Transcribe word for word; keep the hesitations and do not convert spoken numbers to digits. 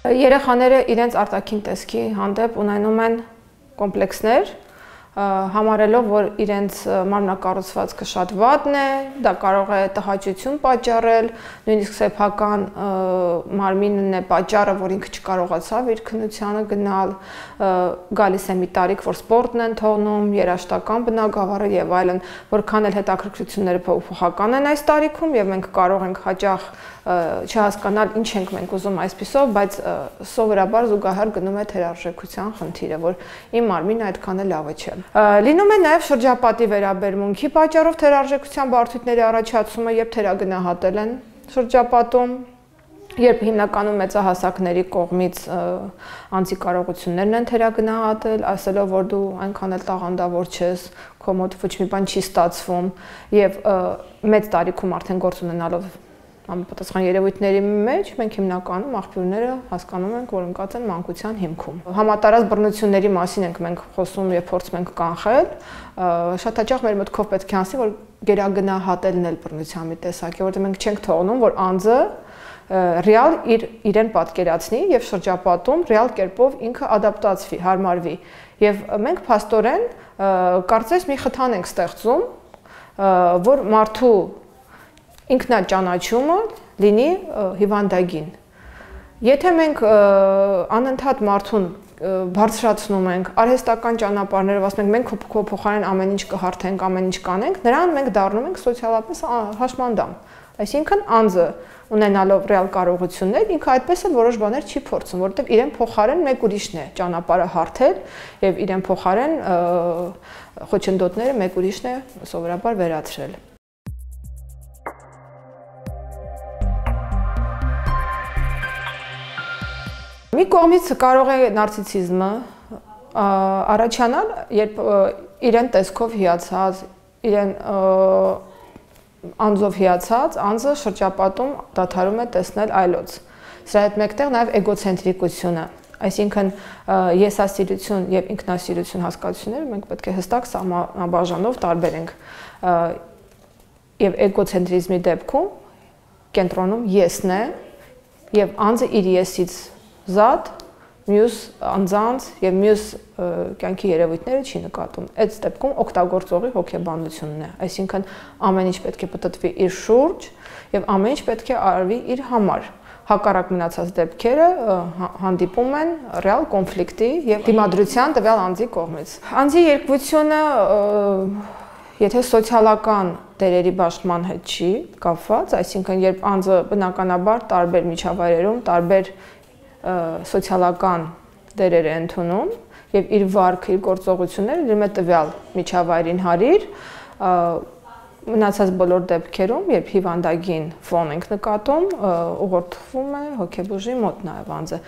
Երեխաները իրենց արտաքին տեսքի հանդեպ ունենում են կոմպլեքսներ, համարելով, որ իրենց մարմնակառուցվածքը շատ վատն է, դա կարող է տհաճություն պատճառել, նույնիսկ սեփական մարմինն է պատճառը, որ ինքը չկարողացավ իր քննությանը գնալ, գալիս է մի տարիք, որ սպորտն են թողնում, երաժշտական բնագավառը եւ այլն, որքան էլ հետաքրքրությունները փոփոխական են այս տարիքում եւ մենք կարող ենք հաճախ չհասկանալ ինչ ենք մենք ուզում այսպիսով, բայց սովորաբար զուգահեռ գնում է թերարժեքության խնդիրը, որ իմ մարմինը այդքան էլ լավը չէ։ Լինում է նաև շրջապատի վերաբերմունքի պատճառով թերարժեքության բարդությունների առաջացումը, երբ թերագնահատել են շրջապատում, երբ հիմնականում մեծահասակների կողմից անձի կարողություններն են թերագնահատել, ասելով, որ դու այնքան էլ տաղանդավոր չես, քո մոտ ոչ մի բան չի ստացվում եւ մեծ տարիքում արդեն գործ ունենալով համապատասխան երևույթների մեջ մենք հիմնականում աղբյուրները հասկանում ենք, որ ընկած են մանկության հիմքում։ Համատարած բռնությունների մասին ենք մենք խոսում եւ փորձում ենք կանխել, շատ հաճախ մեր մտքով պետք է անցնի, որ գերագնահատելն էլ բռնության մի տեսակ է, որտեղ մենք չենք թողնում, որ անձը ռեալ իր իրեն պատկերացնի եւ շրջապատում ռեալ կերպով ինքը ադապտացվի, հարմարվի։ Եվ մենք փաստորեն կարծես մի խթան ենք ստեղծում, որ մարդու ինքնաճանաչումը լինի հիվանդագին։ Եթե մենք անընդհատ մարդուն բարձրացնում ենք, արհեստական ճանապարհներով ասում ենք, մենք քո փոխարեն ամեն ինչ կհարթենք, ամեն ինչ կանենք, նրան մենք դառնում ենք սոցիալապես հաշմանդամ։ Այսինքն անձը ունենալով ռեալ կարողություններ, ինքը այդպես էլ որոշ բաներ չի փորձում, որովհետև իրեն փոխարեն մեկ ուրիշն է ճանապարհը հարթել եւ իրեն փոխարեն խոչընդոտները մեկ ուրիշն է սովորաբար վերացրել։ Մի կողմից կարող է նարցիսիզմը առաջանալ, երբ իրեն տեսքով հիացած, իրեն անձով հիացած, անձը շրջապատում դադարում է տեսնել այլոց։ Սրա հետ մեկտեղ նաև էգոցենտրիկությունը, այսինքն եսասիրություն եւ ինքնասիրություն հասկացությունները մենք պետք է հստակ սահմանաբաժանով տարբերենք։ Եվ էգոցենտրիզմի դեպքում կենտրոնում եսն է եւ անձը իր եսից զատ մյուս անձանց եւ մյուս կյանքի երևույթները չի նկատում։ Այդ դեպքում օգտագործողի հոգեբանությունն է, այսինքն ամեն ինչ պետք է պատտվի իր շուրջ եւ ամեն ինչ պետք է արվի իր համար։ Հակառակ մնացած դեպքերը հանդիպում են ռեալ կոնֆլիկտի եւ դիմադրության տվյալ անձի կողմից։ Անձի երկվությունը եթե սոցիալական դերերի բաշխման հետ չի կապված, այսինքն երբ անձը բնականաբար տարբեր միջավայրերում, տարբեր սոցիալական դերեր է ընդունում եւ իր վարքը, իր գործողությունները լինում է տվյալ միջավայրին հարիր, մնացած բոլոր դեպքերում, երբ հիվանդագին ֆոն ենք նկատում, ուղղորդվում է հոգեբուժի մոտ նաեւ անձը։